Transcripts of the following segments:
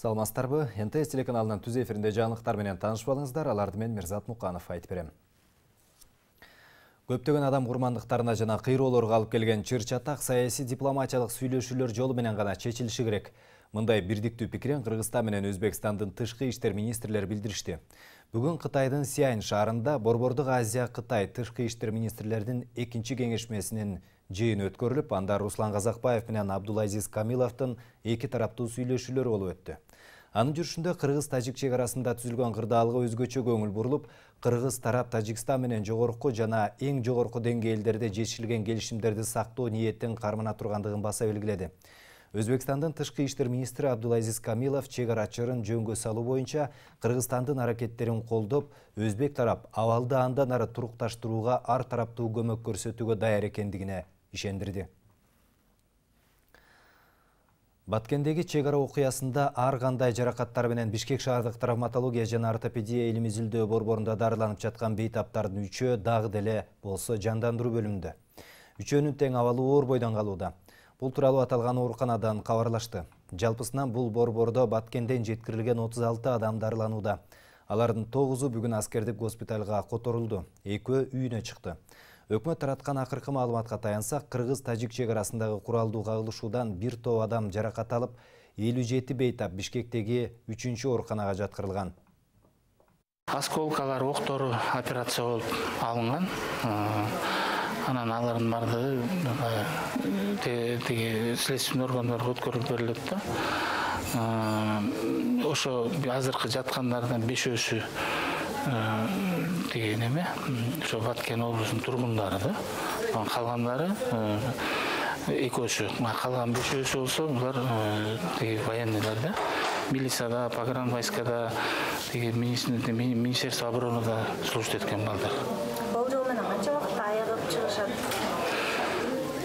Саламатсыздарбы? НТС телеканалынын түз эфиринде жаңылыктар менен таанышып алыңыздар. Аларды мен Мирзат Муканов айтып берем. Көптөгөн адам курмандыктарына жана кыйроолорго алып келген чыр-чатак саясий дипломатиялык сүйлөшүүлөр жолу менен гана чечилиши керек. Мындай бирдиктүү пикирин Кыргызстан менен Өзбекстандын тышкы иштер министрлери билдиришти. Бүгүн Кытайдын Сиань шаарында Борбордук Азия Кытай тышкы иштер министрлеринин экинчи кеңешмесинин жыйыны өткөрүлүп, анда Руслан Казакбаев менен Абдулазиз Камиловдун эки тараптуу сүйлөшүүлөрү болуп өттү. Анын жүрүшүндө Кыргыз-Тажик чек арасында түзүлгөн кырдаалга өзгөчө көңүл бурулуп, Кыргыз тарап Тажикстан менен жогорку жана эң жогорку деңгээлдерде жетишилген келишимдерди сактоо ниеттин кармана тургандыгын баса белгиледи. Өзбекстандын тышкы иштер министри Абдулазиз Камилов чек арачыларын жөнгө салуу боюнча Кыргызстандын аракеттерин колдоп, өзбек тарап абалды андан ары турукташтырууга ар тараптуу көмөк көрсөтүүгө даяр экендигине ишендирди. Баткендеги чек ара окуясында ар кандай жаракаттар менен Бишкек шаардык травматология жана ортопедия илим изилдөө борборунда дарыланып жаткан бейтаптардын үчөө дагы деле болсо жандандыруу бөлүмүндө. Үчөөнүн тең абалы оор бойдон калууда. Бул тууралуу аталган ооруканадан кабарлашты. Жалпысынан бул борбордо Баткенден жеткирилген 36 адам дарыланууда. Алардын 9-у бүгүн аскердик госпиталга которулду. 2-өө үйүнө чыкты. Өкмөт тараткан акыркы маалыматка таянсак, Кыргыз-Тажик чек арасындагы куралдуу кагылышуудан бир топ адам жаракат алып, 57 бейтап Бишкектеги 3-чү ооруканага жаткырылган. Осколкалар, октору операция болуп алынган. Анан алардын баардыгы теги следственный органдарга өткөрүлүп берилет да. Ошо азыркы жаткандардан 5-өсү теги неме, ошо Баткен облусунун тургундары да. Калгандары 2-өсү, калган 5-өсү болсо булар теги военныйлар да. Милицияда, погранвойскада, теги министерство оборонада служить эткен балдар. Болжол менен канча убакытта аягып чыгышат?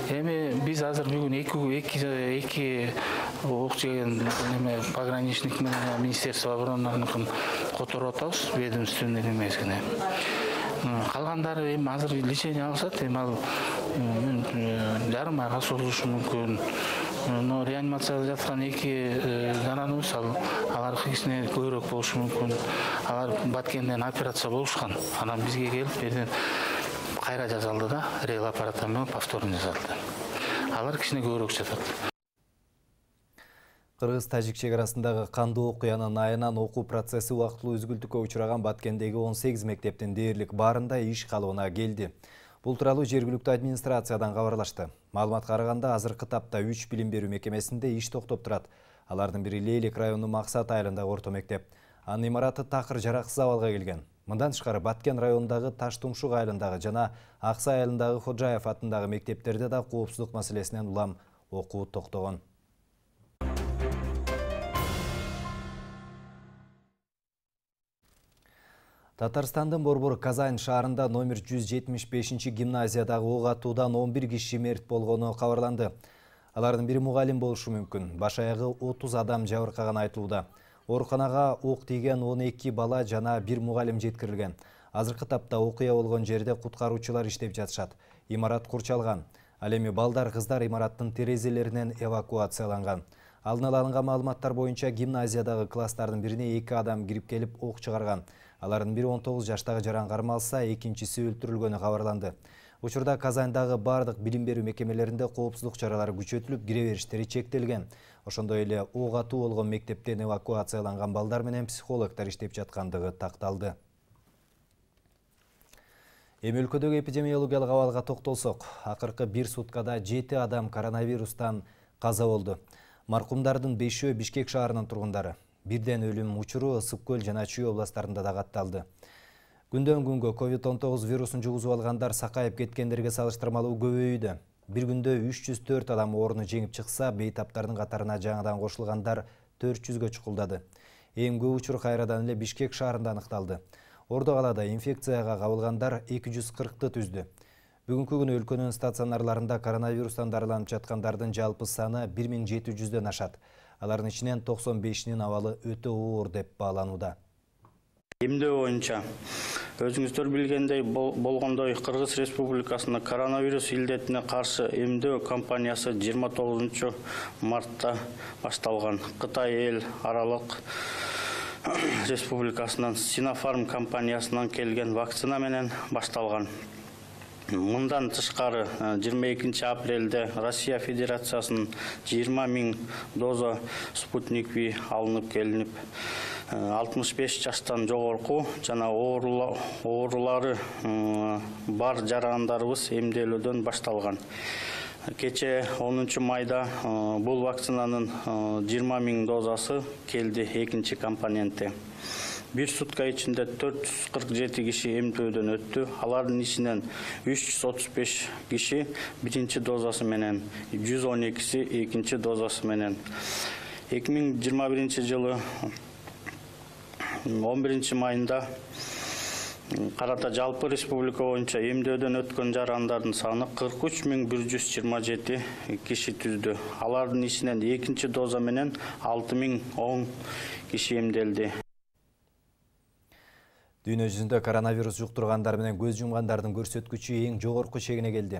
Эми биз азыр бүгүн эки ок жеген неме пограничник менен министерство оборонаныкын которуп атабыз, ведомственный немесине. Калгандары эми азыр лечение алышат, эми ал жарым айга созулушу мүмкүн. Но реанимацияда жаткан эки жананыбыз алар кичине көбүрөөк болушу мүмкүн. Алар Баткенден операция болушкан. Анан бизге келип берден кайра жасалды да, рейл аппараты менен повторно жасалды. Алар кичине көбүрөөк жатат. Кыргыз-Тажик чек арасындагы кандуу окуянын айынан окуу процесси убактылуу үзгүлтүккө учураган Баткендеги 18 мектептин дээрлик баарында иш калыбына келди. Бул тууралуу жергиликтүү администрациядан кабарлашты. Маалыматка караганда азыркы тапта 3 билим берүү мекемесинде иш токтоп турат. Алардын бири Лейлик районунун Максат айылындагы орто мектеп. Анын имараты такыр жараксыз абалга келген. Мындан тышкары Баткен районундагы Таштумшук айылындагы жана Аксай айылындагы Ходжаев атындагы мектептерде да коопсуздук маселесинен улам окуу токтогон. Татарстандын Борбор Казань шаарында номер 175 гимназиядагы ок атуудан 11 киши мерт болгону кабарланды. Алардын бири мугалим болушу мүмкүн. Баш аягы 30 адам жабыркаганы айтылууда. Ооруканага ок тийген 12 бала жана бир мугалим жеткирилген. Азыркы тапта окуя болгон жерде куткаруучулар иштеп жатышат. Имарат курчалган. Ал эми балдар, кыздар имараттын терезелеринен эвакуацияланган. Алдын ала алынган маалыматтар боюнча гимназиядагы класстардын бирине 2 адам кирип келип ок чыгарган. Алардын бири 19 жаштагы жаран кармалса, экинчиси өлтүрүлгөнү кабарланды. Учурда Казандагы бардык билим берүү мекемелеринде коопсуздук чаралары күчөтүлүп, кире бериштери чектелген. Ошондой эле ок атуу болгон мектептен эвакуацияланган балдар менен психологдор иштеп жаткандыгы такталды. Эми өлкөдөгү эпидемиологиялык абалга токтолсок, акыркы 1 суткада 7 адам коронавирустан каза болду. Маркумдардын 5-өө Бишкек шаарынын тургундары. Бирден өлүм учуру Ысык көл жана Чүй областарында да катталды. Күндөн күнгө COVID-19 вирусун жугузуп алгандар сакайып кеткендерге салыштырмалуу көбөйүүдө. Bir күндө 304 адам ооруну жеңип чыкса, бейтаптардын катарына жаңадан кошулгандар 400гө чукулдады. Эң көп учур кайрадан эле Бишкек шаарында аныкталды. Ордо калаада инфекцияга кабылгандар 240-ты түздү. Бүгүнкү күнү өлкөнүн стационарларында коронавирустан дарыланып жаткандардын жалпы саны 1700дөн ашат. Алардын ичинен 95-нин абалы өтө оор деп бааланууда. Эмдөө боюнча Өзүңүздөр билгендей болгондой Кыргыз Республикасында коронавирус илдетине каршы эмдөө кампаниясы 29 мартта башталган. Кытай эл аралык республикасынан Sinopharm компаниясынан келген вакцина менен башталган. Мындан тышкары 22 апрелде Россия Федерациясынын 20 000 доза Спутник V алынып келинип, 65 жаштан жогорку жана оорулары бар жарандарыбыз эмделүүдөн башталган. Кече 10 майда бул вакцинанын 20 000 дозасы келди экинчи компоненти. Bir сутка ичинде 447 киши эмтөөдөн өттү. Алардын ичинен 335 киши биринчи дозасы менен, 112си экинчи дозасы менен. 2021 жылы 11 майында карата жалпы республика боюнча эмдөөдөн өткөн жарандардын саны 43 127 киши түздү. Алардын ичинен экинчи доза менен 6010 киши эмделди. Дүйнө жүзүндө коронавирус жуктургандар менен көз жумгандардын көрсөткүчү эң жогорку чегине келди.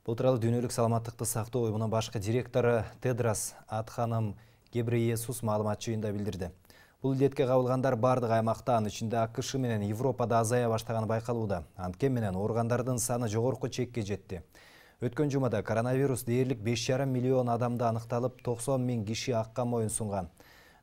Бул тууралуу Дүйнөлүк саламаттыкты сактоо уюмунун башкы директору Тедрос Адханом Гебрейесус маалымат жыйында билдирди. Бул илдетке кабылгандар бардык аймакта, анын ичинде АКШ менен Европада азая баштаганы байкалууда. Анткени менен ооругандардын саны жогорку чекке жетти. Өткөн жумада коронавирус дээрлик 5,5 миллион адамда аныкталып, 90 000 киши акка моюн сунган.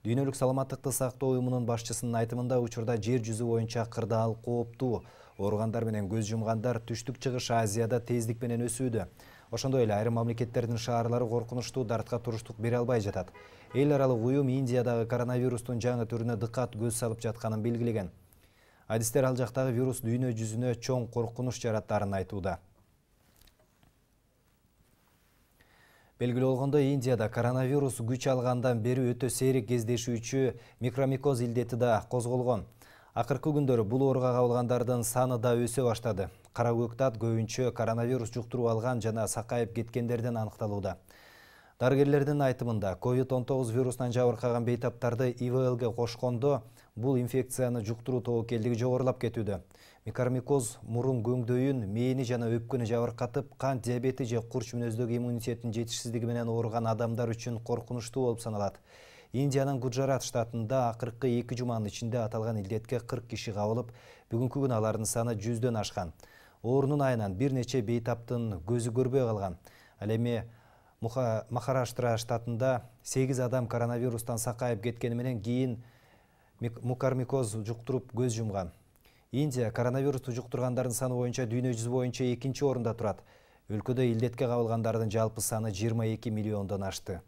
Дүйнөлүк саламаттыкты сактоо уюмунун башчысынын айтымында учурда жер жүзү боюнча кырдаал кооптуу. Ооругандар менен көз жумгандар түштүк чыгыш Азияда тездик менен өсүүдө. Ошондой эле айрым мамлекеттердин шаарлары коркунучтуу дартка туруштук бере албай жатат. Эл аралык уюм Индиядагы коронавирустун жаңы түрүнө дыккат көз салып жатканын белгилеген. Адистер ал жактагы вирус дүйнө жүзүнө чоң коркунуч жараттарын айтууда. Белгилүү болгондой, Индияда коронавирус күч алгандан бери өтө сейрек кездешүүчү микромикоз илдети да козголгон. Акыркы күндөрү бул ооруга кабылгандардын саны да өсө баштады. Кара көктө ат көбүнчө коронавирус жуктуруп алган жана сакайып кеткендерден аныкталууда. Дарыгерлердин айтымында, COVID-19 вирусунан жабыркаган бейтаптарды ИВЛге кошкондо бул инфекцияны жуктуруу тобокелдиги жогорулап кетүүдө. Микромикоз мурун көңдөйүн, мээни жана өпкөнү жабыркатып, кант диабети же курч мүнөздөгү иммунитеттин жетишсиздиги менен ооруган адамдар үчүн коркунучтуу болуп саналат. Индиянын Гуджарат штатында акыркы 2 жуманын ичинде аталган илдетке 40 киши кабылып, бүгүнкү күнү алардын саны 100дөн ашкан. Оорунун айынан бир нече бейтаптын көзү көрбөй калган. Ал эми Махараштра штатында 8 адам коронавирустан сакайып кеткени менен кийин мукормикоз жуктуруп көз жумган. Индия коронавирусту жуктургандардын саны боюнча дүйнө жүзү боюнча экинчи орунда турат. Өлкөдө илдетке кабылгандардын жалпы саны 22 миллиондон ашты.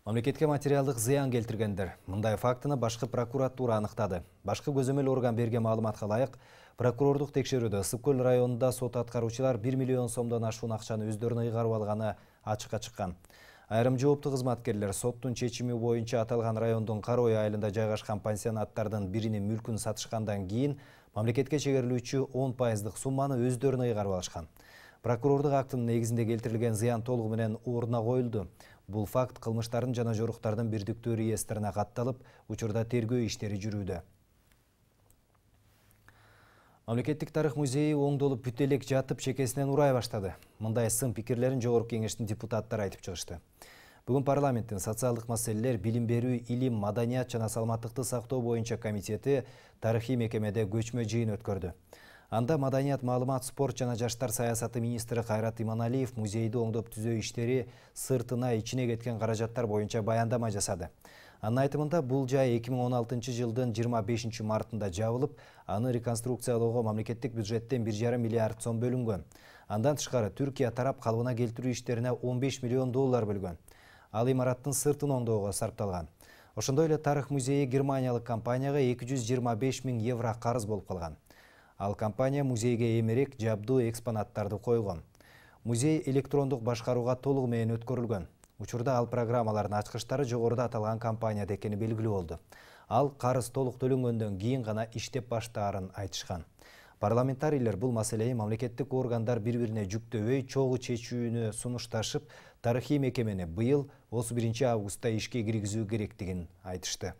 Мамлекетке материалдык зыян келтиргендер. Мындай фактыны башкы прокуратура аныктады. Башкы көзөмөл орган берген маалыматка ылайык, прокурордук текшерүүдө Ысык көл районунда сот аткаруучулар 1 миллион сомдон ашуун акчаны өздөрүнө ыйгарып алганы ачыкка чыккан. Айрым жооптуу кызматкерлер соттун чечими боюнча аталган райондун Карой айылында жайгашкан пансионаттардын биринин мүлкүн сатышкандан кийин мамлекетке чегерилүүчү 10% сумманы өздөрүнө ыйгарып алышкан. Прокурордук актынын негизинде келтирилген зыян толугу менен ордуна коюлду. Бул факт кылмыштардын жана жоруктардын бирдиктүү реестрине катталып, учурда тергөө иштери жүрүүдө. Мамлекеттик тарых музейи оңдолуп бүт элек жатып чекесинен урай баштады. Мындай сын пикирлерин Жогорку кеңештин депутаттары айтып чыгышты. Бүгүн парламенттин социалдык маселелер, билим берүү, илим, маданият жана саламаттыкты сактоо боюнча комитети тарыхый мекемеде көчмө жыйын өткөрдү. Анда маданият, маалымат, спорт жана жаштар саясаты министри Кайрат Иманалиев музейди оңдоп түзөө иштери сыртына ичине кеткен каражаттар боюнча баяндама жасады. Анын айтымында бул жай 2016 жылдын 25 мартында жабылып, аны реконструкциялоого мамлекеттик бюджеттен 1,5 миллиард сом бөлүнгөн. Андан тышкары Түркия тарап калыбына келтирүү иштерине 15 миллион доллар бөлгөн. Ал имараттын сыртын оңдоого сарпталган. Ошондой эле тарых музейи германиялык компанияга 225 000 евро карыз болуп калган. Ал компания музейге эмерек жабдуу экспонаттарды койгон. Музей электрондук башкарууга толугу менен өткөрүлгөн. Учурда ал программалардын ачкычтары жогоруда аталган компанияда экени белгилүү болду. Ал карыз толук төлөнгөндөн кийин гана иштеп баштаарын айтышкан. Парламентарийлер бул маселени мамлекеттик органдар бири-бирине жүктөбөй чогуу чечүүнү сунушташып, тарыхый мекемени быйыл 31 августта ишке киргизүү керектигин айтышты.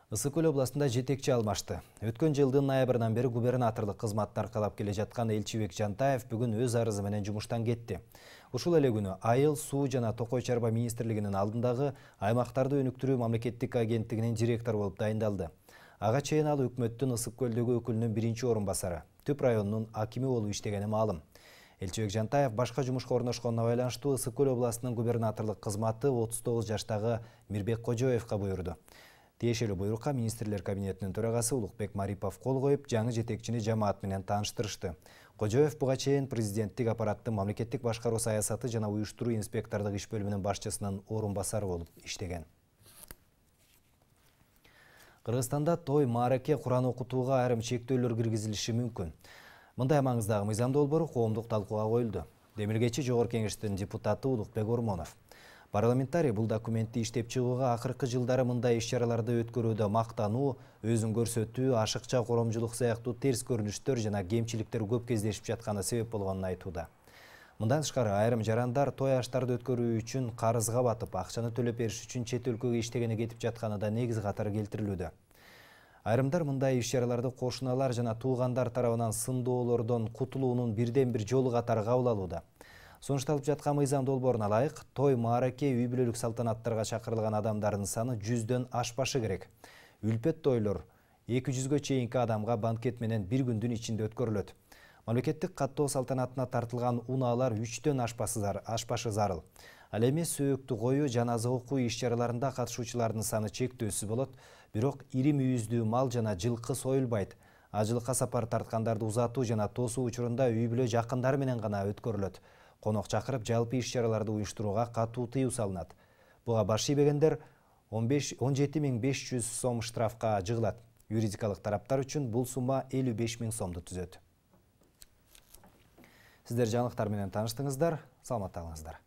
Ысык Көл областында жетекчи алмашты. Өткөн жылдын ноябрынан бери губернаторлук кызматты аркалап келе жаткан Элчибек Жантаев бүгүн өз арызы менен жумуштан кетти. Ушул эле күнү Айыл, суу жана токой чарба министрлигинин алдындагы аймактарды өнүктүрүү мамлекеттик агенттигинин директору болуп дайындалды. Ага чейин ал өкмөттүн Ысык Көлдөгү өкүлүнүн биринчи орун басары, Түп районунун акими болуп иштегени маалым. Элчибек Жантаев башка жумушка орношконуна байланыштуу Ысык Көл областынын губернаторлук кызматы 39 жаштагы Мирбек Кожоевго буйрду. Тиешелүү буйрукка министрлер кабинетинин төрагасы Улукбек Марипов кол коюп, жаңы жетекчини жамаат менен тааныштырышты. Кожоев буга чейин президенттик аппараттын мамлекеттик башкаруу саясаты жана уюштуруу инспектордук иш бөлүмүнүн башчысынын орун басары болуп иштеген. Кыргызстанда той, маареке, Куран окутууга айрым чектөөлөр киргизилиши мүмкүн. Мындай маңыздагы мыйзам долбоору коомдук талкууга коюлду. Демилгечи Жогорку Кеңештин депутаты Улукбек Ормонов. Парламентарий бул документти иштеп чыгууга акыркы жылдары мындай иш-чараларды өткөрүүдө мактануу, өзүн көрсөтүү, ашыкча коромчулук сыяктуу терс көрүнүштөр жана кемчиликтер көп кездешип жатканы себеп болгонун айтууда. Мындан тышкары айрым жарандар той аштарды өткөрүү үчүн карызга батып, акчаны төлөп бериш үчүн чет өлкөгө иштегени кетип жатканы да негиз катары келтирилүүдө. Айрымдар мындай иш-чараларды кошуналар жана туугандар тарабынан сындоолордон кутулуунун бирден бир жолу катары кабыл алууда. Сунушталып жаткан мыйзам долбооруна ылайык, той, маареке, үй бүлөлүк салтанаттарга чакырылган адамдардын саны 100дөн ашпашы керек. Үлпөт тойлор 200гө чейинки адамга банкет менен бир күндүн ичинде өткөрүлөт. Мамлекеттик каттоо салтанатына тартылган унаалар 3дөн ашпашы зарыл. Ал эми сөөктү коюу, жаназа окуу иш-чараларында катышуучулардын саны чектөөсүз болот, бирок ири мүйүздүү мал жана жылкы союлбайт. Ажылыкка сапар тарткандарды узатуу жана тосуу учурунда үй бүлө жакындары менен гана өткөрүлөт. Конок чакырып, жалпы иш-чараларды уюштурууга катуу тыюу салынат. Буга баш ийбегендер 17.500 сом штрафка жыгылат. Юридикалык тараптар үчүн бул сумма 55.000 сомду түзөт. Сиздер жаңылыктар менен тааныштыңыздар. Саламатта калыңыздар.